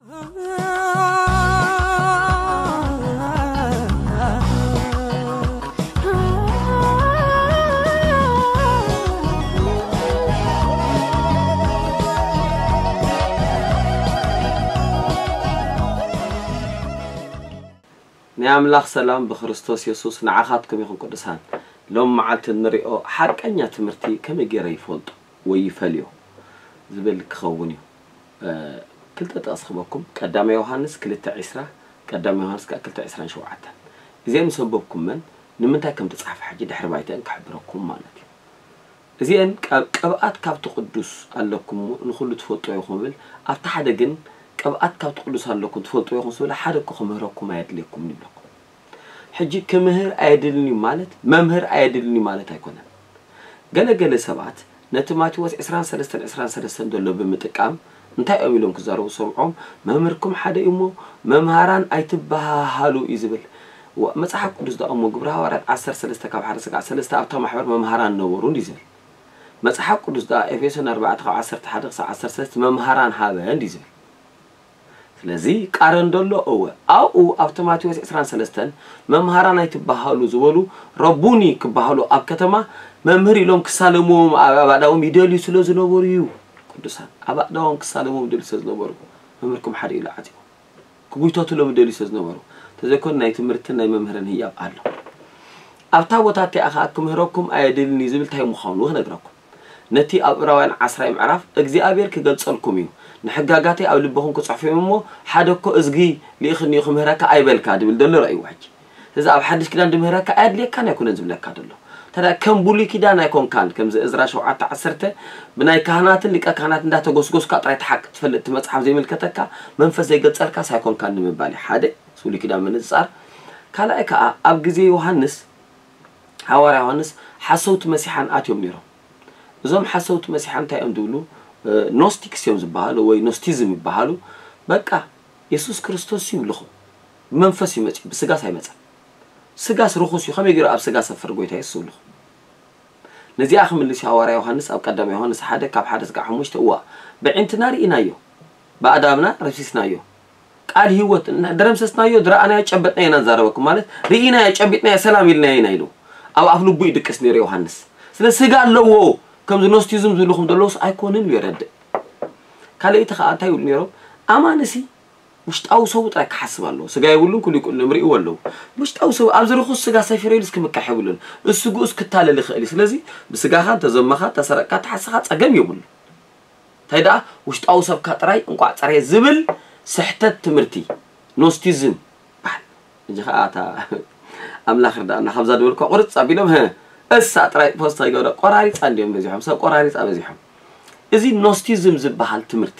ናይ ኣምላኽ ሰላም ብክርስቶስ የሱስ ንዓኻትኩም ይኹን ቅዱሳን። ሎም መዓልቲ እንሪኦ ሓቀኛ ትምህርቲ ከመይ ገይረ ይፈልጦ ወይ ይፈልዮ ዝብል ክኸውን እዩ። ክልተ ጥቕስ ክበኩም፣ ቀዳማይ ዮሃንስ ክልተ ዕስራ፣ ቀዳማይ ዮሃንስ ከዓ ክልተ ዕስራን ሸውዓተን። እዚኦም ምስ ኣንበብኩመን ንምንታይ ከም ተጻሕፈ ሕጂ ድሕሪ ባይተን ክሕብረኩም ማለት እዩ። እዚአን ቅብኣት ካብቲ ቅዱስ ኣለኩም ንኹሉ ትፈልጦ ኢኹም ብል ኣብቲ ሓደ ግን ቅብኣት ካብቲ ቅዱስ ኣለኩም ትፈልጦ ኢኹም ስብል ሓደ እኮ ክምህረኩም ኣየድልየኩም ይብለኩም። ሕጂ ክምህር ኣየድልን እዩ ማለት መምህር ኣየድልን እዩ ማለት ኣይኮነን። ገለገለ ሰባት ነቲ ማቴዎስ ዕስራን ሰለስተን ዕስራን ሰለስተን ዘሎ ብምጥቃም እንታይ እዮም ኢሎም ክዛረቡ ሰምዖም? መምህርኩም ሓደ እዩ እሞ መምሃራን ኣይትበሃሃሉ እዩ ዝብል። መጽሓፍ ቅዱስ ዳኣ እሞ ግብረ ሃዋርያት ዓሰርተ ሰለስተ ካብ ሓደ ስጋዕ ሰለስተ ኣብታ ማሕበር መምሃራን ነበሩ እንዲ ዝብል። መጽሓፍ ቅዱስ ዳኣ ኤፌሶን ኣርባዕተ ካብ ዓሰርተ ሓደ ክሳብ ዓሰርተ ሰለስተ መምሃራን ሃበ እንዲ ዝብል። ስለዚ ቃረን ደሎ እወ ኣብኡ ኣብቲ ማቴዎስ ዕስራን ሰለስተን መምሃራን ኣይትበሃሉ ዝበሉ ረቡኒ ክበሃሉ ኣብ ከተማ መምህር ኢሎም ክሳለምዎም ኣብ ኣእዳዎም ይደልዩ ስለ ዝነበሩ እዩ። ቅዱሳን ኣብ ኣእዳዎም ክሳለምዎም ይደልዩ ስለ ዝነበሩ መምህርኩም ሓደ ኢሉ ዓፅዎ ክጉይተትሎም ይደልዩ ስለ ዝነበሩ ተዘይኮን ናይ ትምህርትን ናይ መምህርን ህያብ ኣሎ። ኣብታ ቦታ እቲኣ ኸዓ ክምህረኩም ኣየድልን እዩ ዝብል እንታይ ምዃኑ ክነግረኩም። ነቲ ኣብ ዕብራውያን ዓስራይ ምዕራፍ እግዚኣብሔር ክገልጸልኩም እዩ፣ ንሕጋጋተይ ኣብ ልብኹም ክጽሕፎ እዮም እሞ ሓደ እኮ እዝጊ ልኢኽኒ እዩ ክምህረካ ኣይበልካ ድብል ዘሎ ረእይዎ ሕጂ። እዚ ኣብ ሓድሽ ኪዳን ድምህረካ ኣየድልየካን ኣይኮነን ዝብለካ ዘሎ። ታዲያ ከም ብሉይ ኪዳን ኣይኮንካን ከምዚ እዝራ ሸውዓተ ዓሰርተ ብናይ ካህናትን ሊቀ ካህናት እንዳተጎስጎስካ ጥራይ ተሓቅ ትፈልጥ እቲ መጽሓፍ ዘይምልከተካ መንፈስ ዘይገልጸልካስ ኣይኮንካን ንምባል እዩ ሓደ ብሉይ ኪዳን ምንጽጻር። ካልኣይ ከዓ ኣብ ግዜ ዮሃንስ ሃዋርያ ዮሃንስ ሓሰውቲ መሲሓን ኣትዮም ነይሮም። እዞም ሓሰውቲ መሲሓን እንታይ እዮም ዝብሉ? ኖስቲክስ እዮም ዝበሃሉ ወይ ኖስቲዝም ይበሃሉ። በቃ የሱስ ክርስቶስ ይብልኹም ብመንፈስ እዩ መፅኡ ብስጋስ ኣይመፀን። ስጋስ ርኹስ እዩ ከመይ ገይሩ ኣብ ስጋ ሰፍር ጎይታ የሱስ ይብልኹም። ነዚኣ ክምልስ ሃዋርያ ዮሃንስ ኣብ ቀዳማይ ዮሃንስ ሓደ ካብ ሓደ ስጋዕ ሓሙሽተ እዋ ብዒንትና ርኢናዮ ብኣእዳብና ረሲስናዮ ቃል ህይወት ደረምሰስናዮ ዝረኣናዮ ጨበጥናዮ ኢና ንዛረበኩም ማለት ርኢናዮ ጨቢጥናዮ ሰላም ኢልናዮ ኢና ኢሉ ኣብ ኣፍ ልቡ ይድቅስ ነይሩ ዮሃንስ። ስለ ስጋ ኣለዎ ከምዚ ኖስቲዝም ዝብልኹም ዘለውስ ኣይኮንን ኢሉ የረድእ። ካልኣይቲ ከዓ እንታይ ይብሉ ነይሮም? ኣማንሲ ውሽጣዊ ሰቡ ጥራይ ክሓስብ ኣለዎ። ስጋ የብሉን ኩሉ ይቁልም ርእይዎ ኣለዉ። ውሽጣዊ ሰቡ ኣብዚ ርኹስ ስጋ ሰፊረ ኢሉስ ክምካሕ የብሉን። እሱ ግኡስ ክታለል ይኽእል እዩ። ስለዚ ብስጋኻ እንተዘመኻ እንተሰረቅካ ተሓስኻ ጸገም የብሉ። እንታይ ደኣ ውሽጣዊ ሰብካ ጥራይ እንቋዕ ጸርየ ዝብል ስሕተት ትምህርቲ ኖስቲዝም በሃል። እጂ ኸዓ እታ ኣምላኽ ርዳእና ካብዛ ድበልኳ ቁርጽ ኣቢሎም ህ እሳ ጥራይ ፖስት ከይገብረ ቆራሪጻ እንዲዮም በዚሖም ሰብ ቆራሪጻ በዚሖም። እዚ ኖስቲዝም ዝበሃል ትምህርቲ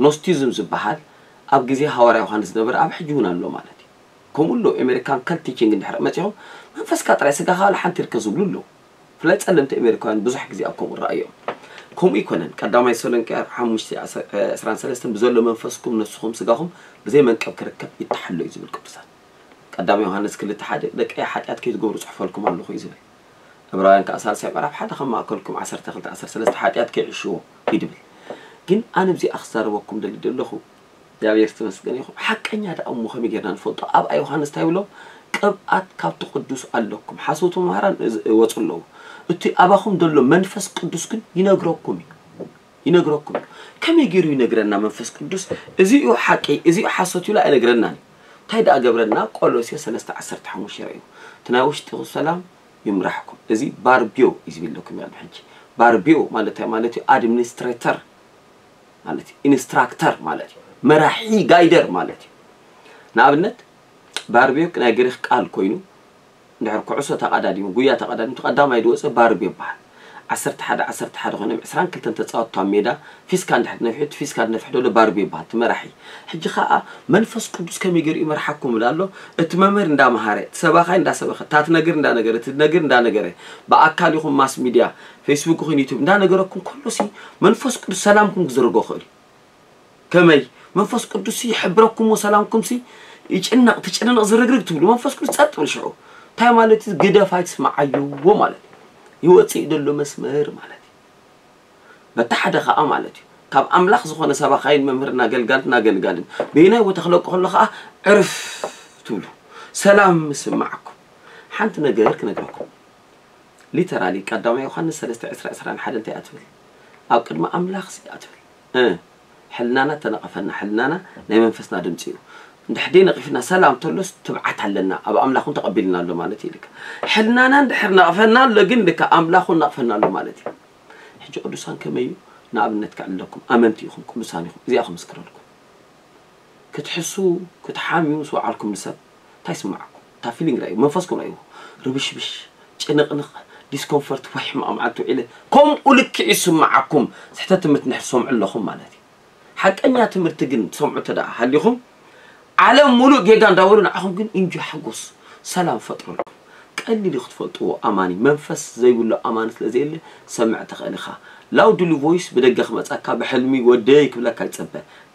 ኖስቲዝም ዝበሃል ኣብ ግዜ ሃዋርያ ዮሃንስ ዝነበረ ኣብ ሕጂ እውን ኣሎ ማለት እዩ። ከምኡ ኣሎ ኤሜሪካን ከልት ቲቺንግ እንድሕር መጺኹም መንፈስካ ጥራይ ስጋኻ ዋላ ሓንቲ ርከ ዝብሉ ኣለዉ። ብፍላይ ጸለምቲ ኣሜሪካውያን ብዙሕ ግዜ ኣብ ከምኡ ረኣዮም። ከምኡ ኣይኮነን። ቀዳማይ ተሰሎንቄ ሓሙሽተ ዕስራን ሰለስተን ብዘሎ መንፈስኩም ነስኹም ስጋኹም ብዘይ መንቀብ ክርከብ ይተሓሎ እዩ ዝብል ቅዱሳን። ቀዳማይ ዮሃንስ ክልተ ሓደ ደቀይ ሓጢኣት ከይትገብሩ ጽሕፈልኩም ኣለኹ እዩ ዝብል። ዕብራውያን ከኣ ሳልሳይ ምዕራፍ ሓደ ካብ ማእከልኩም ዓሰርተ ክልተ ዓሰርተ ሰለስተ ሓጢኣት ከይዕሽዎ እዩ ድብል። ግን ኣነ ብዚኣ ክዛረበኩም ደሊ ደለኹ እግዚኣብሔር ዝተመስገነ ይኹን። ሓቀኛ ደኣ እሞ ከመይ ጌርና ንፈልጦ? ኣብኣ ዮሃንስ እንታይ ይብሎም? ቅብኣት ካብቲ ቅዱስ ኣለኩም። ሓሰውቲ መምህራን እዝ- ይወፁ ኣለዉ። እቲ ኣባኹም ዘሎ መንፈስ ቅዱስ ግን ይነግረኩም እዩ። ይነግረኩም እዩ። ከመይ ገይሩ ይነግረና መንፈስ ቅዱስ? እዚ እዩ ሓቂ፣ እዚ እዩ ሓሶት ኢሉ ኣይነግረናን እዩ። እንታይ ደኣ ገብረና? ቆሎሴ ሰለስተ ዓሰርተ ሓሙሽተ ይረእዩ። እቲ ናይ ውሽጢ ሰላም ይምራሕኩም። እዚ ባርቢዮ እዩ ዝብለኩም ያሉ ሕጂ። ባርቢዮ ማለት እንታይ ማለት እዩ? ኣድሚኒስትሬተር ማለት እዩ። ኢንስትራክተር ማለት እዩ። መራሒ ጋይደር ማለት እዩ። ንኣብነት ባርቢዮ ናይ ግሪክ ቃል ኮይኑ እንድሕር ኩዕሶ ተቐዳዲሙ ጉያ ተቐዳዲሙ እቲ ቀዳማይ ዝወፀ ባርቢዮ ይበሃል። ዓሰርተ ሓደ ዓሰርተ ሓደ ኮይኖም ዕስራን ክልተን ተፃወትቲ ኣብ ሜዳ ፊስካ እንድሕር ነፊሑ እቲ ፊስካ ዝነፍሕ ዘሎ ባርቢዮ ይበሃል እቲ መራሒ። ሕጂ ከዓ መንፈስ ቅዱስ ከመይ ገይሩ ይመርሓኩም ይብል ኣሎ። እቲ መምህር እንዳመሃረ እቲ ሰባኻይ እንዳሰበኸ እታ ትነግር እንዳነገረ እቲ ትነግር እንዳነገረ ብኣካል ይኹን ማስ ሚድያ ፌስቡክ ይኹን ዩቱብ እንዳነገረኩም ከሎሲ መንፈስ ቅዱስ ሰላምኩም ክዝርጎ ይኽእል እዩ። ከመይ መንፈስ ቅዱስ ይሕብረኩም ሰላምኩም ሲ ይጭነቕ ትጭንቕ ዝርግርግ ትብሉ መንፈስ ቅዱስ ጸጥ ብል ሽዑ እንታይ ማለት እዩ ግደፍ ኣይትስምዓዮ ማለት እዩ። ይወጽእ ዘሎ መስመር ማለት እዩ። በቲ ሓደ ኸኣ ማለት እዩ ካብ ኣምላኽ ዝኾነ ሰባኻይን መምህርና ገልጋልትና ገልጋልን በየናይ ቦታ ክለቁ ከሎ ከዓ ዕርፍ ትብሉ፣ ሰላም ምስማዓኩም። ሓንቲ ነገር ክነግረኩም። ሊተራሊ ቀዳማይ ዮሃንስ ሰለስተ ዕስራ ዕስራን ሓደን እንታይ እያ ትብል? ኣብ ቅድሚ ኣምላኽ ሲ እያ ትብል። እ፣ ሕልናና ተነቐፈና፣ ሕልናና ናይ መንፈስና ድምፂ እዩ። እንድሕር ደይ ነቒፍና ሰላም ተሎስ ትብዓት ኣለና፣ ኣብ ኣምላኽ እውን ተቐቢልና ኣሎ ማለት እዩ። ልካ ሕልናና እንድሕር ነቕፈና ኣሎ ግን ልካ ኣምላኽ እውን ነቕፈና ኣሎ ማለት እዩ። ሕጂ ቅዱሳን ከመይ እዩ? ንኣብነት ከዕልለኩም፣ ኣመንቲ ኢኹም፣ ቅዱሳን ኢኹም፣ እዚኣ ክምስክረልኩም። ክትሕሱ፣ ክትሓምዩ ምስ ወዓልኩም ንሰብ እንታይ ይስምዓኩም? እታ ፊሊንግ ርኣዩ፣ መንፈስኩም ርኣዩ። ርብሽብሽ፣ ጭንቕንቕ፣ ዲስኮምፈርት ወይ ሕማቕ መዓልቲ ውዒለ ከምኡ ልክዕ ይስምዓኩም። ስሕተት ትምህርቲ እንድሕር ትሰምዑ ኣለኹም ማለት እዩ። ሓቀኛ ትምህርቲ ግን ትሰምዑ እንተ ደኣ ሃሊኹም፣ ዓለም ሙሉእ ጌጋ እንዳበሉ ንዓኹም ግን ኢንጆይ ሓጎስ ሰላም ፈጥረልኩም። ቀሊል እዩ ክትፈልጥዎ ኣማኒ፣ መንፈስ ዘይብሉ ኣማኒ ስለ ዘየለ ሰምዕ ትኽእል ኢኻ። ላውድሊ ቮይስ ብደገ ክመጻካ ብሕልሚ ወደይ ክብለካ ይጸበ።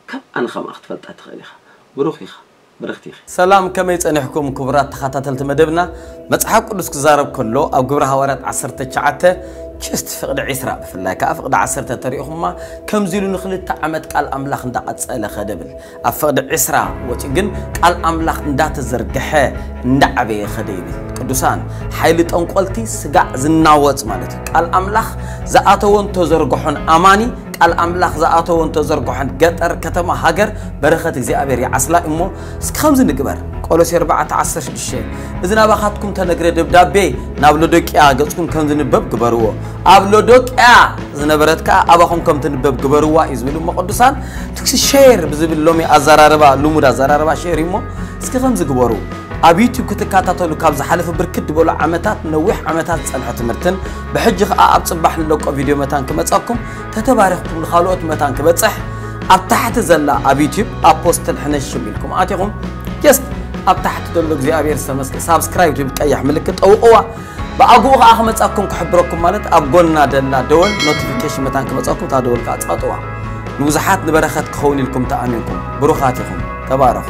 ከም ኣነ ከምኣ ክትፈልጣ ትኽእል ኢኻ። ብሩኽ ኢኻ። ብርኽቲ ኢኺ። ሰላም፣ ከመይ ጸኒሕኩም ክቡራት ተኸታተልቲ መደብና? መጽሓፍ ቅዱስ ክዛረብ ከሎ ኣብ ግብረ ሃዋርያት ዓሰርተ ትሽዓተ ችስት ፍቕዲ ዕስራ ብፍላይ ከኣ ፍቕዲ ዓሰርተ ተሪእኹማ ከምዚ ኢሉ ንኽልተ ዓመት ቃል ኣምላኽ እንዳቐጸለ ኸደ ብል። ኣብ ፍቕዲ ዕስራ ወጺኡ ግን ቃል ኣምላኽ እንዳተዘርግሐ እንዳዓበየ ኸደ ይብል። ቅዱሳን፣ ሓይሊ ጠንቆልቲ ስጋዕ ዝናወጽ ማለት እዩ። ቃል ኣምላኽ ዝኣተወን ተዘርግሖን ኣማኒ፣ ቃል ኣምላኽ ዝኣተወን ተዘርግሖን ገጠር፣ ከተማ፣ ሃገር በረኸት እግዚኣብሔር ይዓስላ እሞ እስኪ ከምዚ ንግበር። ቆሎሴ ኣርባዕተ ዓሰርተ ሽዱሽተ፣ እዚ ናባኻትኩም ተነግረ ደብዳቤ ናብ ሎዶቅያ ገጽኩም ከም ዝንበብ ግበርዎ። ኣብ ሎዶቅያ ዝነበረት ከኣ ኣባኹም ከም ትንበብ ግበርዋ እዩ ዝብል እሞ ቅዱሳን፣ ትኩሲ ሼር ብዝብል ሎሚ ኣዘራርባ፣ ልሙድ ኣዘራርባ ሼር እዩ እሞ እስኪ ከምዚ ግበሩ። ኣብ ዩቲዩብ ክትከታተሉ ካብ ዝሓለፈ ብርክት ዝበሉ ዓመታት፣ ነዊሕ ዓመታት ዝጸንሐ ትምህርትን ብሕጂ ከኣ ኣብ ጽባሕ ንለቆ ቪድዮ መታን ክመጻኩም ተተባሪኽኩም ንኻልኦት መታን ክበጽሕ ኣብ ታሕቲ ዘላ ኣብ ዩቲዩብ ኣፖስትል ሕነሽም ኢልኩም ኣቲኹም ጀስት ኣብ ታሕቲ ዘሎ እግዚኣብሔር ዝተመስገ ሳብስክራይብ ትብል ቀያሕ ምልክት ጠውቕዋ። ብኣግኡ ከኣ ክመጻኩም ክሕብረኩም ማለት ኣብ ጎና ደላ ደወል ኖቲፊኬሽን መታን ክመጻኩም እታ ደወል ከኣ ጻጥዋ። ንብዙሓት ንበረኸት ክኸውን ኢልኩም ተኣሚንኩም ብሩኻት ኢኹም። ተባረኹ።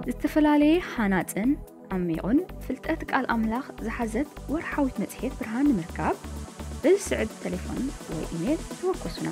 ዝተፈላለየ ሃናጽን ዓሚቑን ፍልጠት ቃል ኣምላኽ ዝሓዘት ወርሓዊት መጽሔት ብርሃን ንምርካብ በዚ ስዕብ ተሌፎን ወይ ኢሜል ተወከሱና።